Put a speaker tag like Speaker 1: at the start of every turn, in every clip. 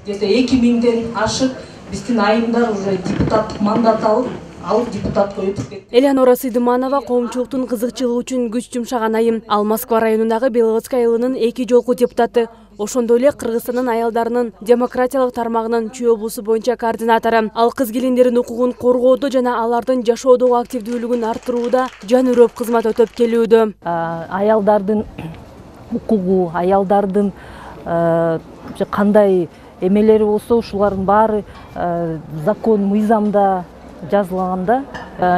Speaker 1: где-то 2000ден ашык биздин айымдар уже депутаттык мандат алып депутатка өтүп кетти.
Speaker 2: Элеонора Сыдыманова коомчулуктун кызыкчылыгы үчүн күч жумшаган айым. Ал Москва районундагы Беловодск айылынын 2 жолку депутаты. Ошондой эле Кыргызстандын аялдарынын демократиялык тармагынын Чүй облусу боюнча координатору. Ал кыз келиндердин укугун коргоодо жана алардын жашоодогу активдүүлүгүн арттырууда жан үрөп кызмат өтөп келүүдө.
Speaker 3: Аялдардын укугу, аялдардын кандай эмелери болсо, ушулардын баары закон, мыйзамда жазылганда.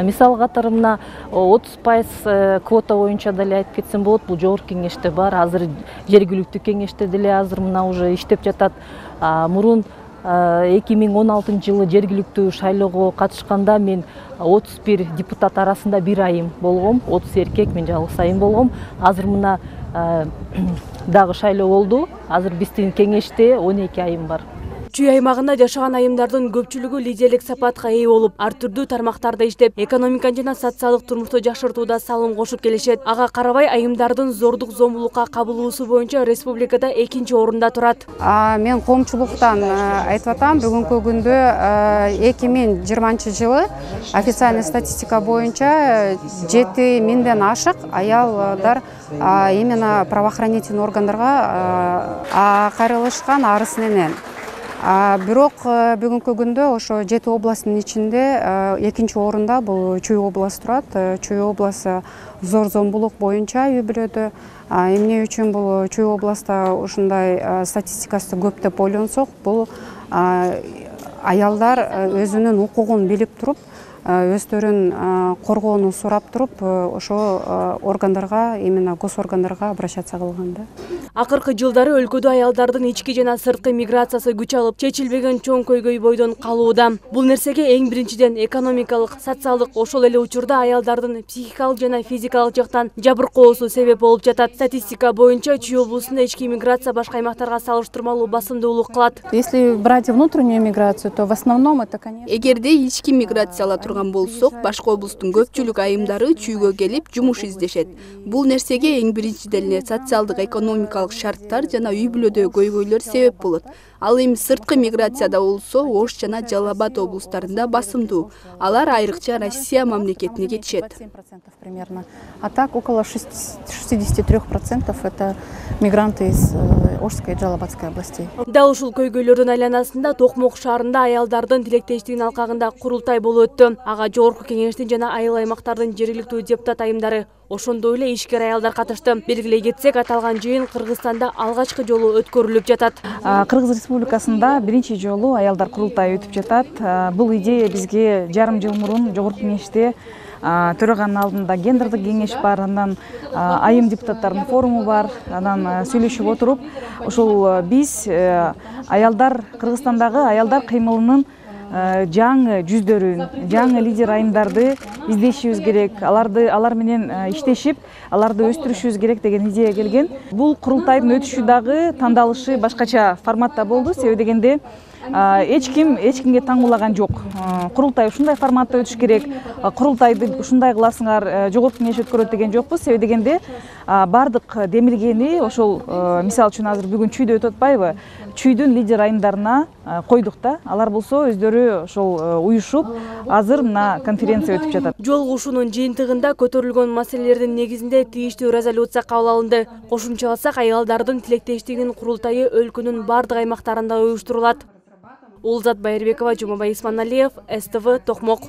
Speaker 3: Мисал катары мына 30% квота боюнча деле айтып кетсем болот. Бул жогорку кеңеште бар. Азыр жергиликтүү кеңеште деле азыр мына уже иштеп жатат. Мурун 2016 жылы жергиликтүү шайлоого катышканда мен 31 депутат арасында бир айым болгом. 30 эркек, мен жалгыз айым болгом. Азыр мына дагы шайлоо болду. Азыр биздин кеңеште 12 айым бар.
Speaker 2: Чүй аймагында жашаган айымдардын көпчүлүгү лидерлик сапатка ээ болуп, ар түрдүү тармактарда иштеп, экономиканы жана социалдык турмушту жакшыртууда салым кошуп келишет. Ага карабай айымдардын зордук зомбулукка кабылуусу боюнча республикада 2-чи орунда турат.
Speaker 4: Мен коомчулуктан айтып атам, бүгүнкү күндө 2020 жылы официальный статистика боюнча 7000ден ашык аялдар именно правоохранительный органдарга кайрылышкан арыз менен. Бирок бүгүнкү күндө ошо 7 областын ичинде 2-чи орунда бул Чүй областы турат. Чүй областы зор зомбулук боюнча үй бүлөдө. Эмне үчүн бул Чүй областта ушундай статистикасы көп деп ойлонсок, бул аялдар өзүнүн укугун билип туруп, өздөрүн коргоону сурап туруп, ошо органдарга, именно госоргандарга обращаться кылганда.
Speaker 2: Акыркы жылдары өлкөдө аялдардын ички жана сырткы миграциясы күч алып, чечилбеген чоң көйгөй бойдон калууда. Бул нерсеге эң биринчиден экономикалык, социалдык, ошол эле учурда аялдардын психикалык жана физикалык жактан жабыркоосу себеп болуп жатат. Статистика боюнча Чүй облусунда ички миграция башка аймактарга салыштырмалуу басымдуулук кылат.
Speaker 5: Если брать внутреннюю миграцию, то в основном это, конечно.
Speaker 6: Эгерде ички миграциялар турган болсок, башка облустун көпчүлүк айымдары Чүйгө келип жумуш издешет. Бул нерсеге эң биринчиден эле социалдык, экономикалык шарттар жана үй бүлөдөгү көйгөйлөр себеп болот. Ал эми сырткы миграцияда болсо, Ош жана Жалал Абад облустарында басымдуу. Алар айрыкча Россия мамлекетине кетишет.
Speaker 5: Примерно. А так около 63% это мигранты из Ошской и Жалал-Абадской областей.
Speaker 2: Дал ушул көйгөйлөрдүн айланасында Токмок шаарында аялдардын тилектештигинин алкагында курултай болуп өттү. Ага жогорку кеңештин жана айыл аймактардын жергиликтүү депутат айымдары, ошондой эле ишкер аялдар катышты. Белгилей кетсек, аталган жыйын Кыргызстанда алгачкы жолу өткөрүлүп жатат.
Speaker 7: Кыргыз Республикасында биринчи жолу аялдар курултайы өтүп жатат. Бул идея бизге жарым жыл мурун жогорку кеңеште төраганын алдында гендердик кеңеш бар, андан айым депутаттардын форуму бар, анан сүйлөшүп отуруп, ошол биз аялдар, Кыргызстандагы аялдар кыймылынын жаңы жүздөрүн, жаңы лидер айымдарды издешибиз керек, алар менен иштешип, аларды өстүрүшүбүз керек деген идея келген. Бул курултайдын өтүшү дагы тандалышы башкача форматта болду, себеби дегенде эч кимге таңуулаган жок. Курултай ушундай форматта өтүш керек, курултайды ушундай кыласыңар, жогорку кеңеш өткөрөт деген жокпуз. Себеби дегенде бардык демилгени ошол, мисалы үчүн азыр бүгүн Чүйдө өтүп атпайбы? Чүйдүн лидер айымдарына койдук да. Алар болсо өздөрү ошол уюшуп, азыр мына конференция өтүп жатат.
Speaker 2: Жолугушуунун жыйынтыгында көтөрүлгөн маселелердин негизинде тийиштүү резолюция кабыл алынды. Кошумчаласак, аялдардын тилектештигинин курултайы өлкөнүн бардык аймактарында уюштурулат. Улзат Байырбекова, Жумабай Исманалиев, СТВ, Токмок.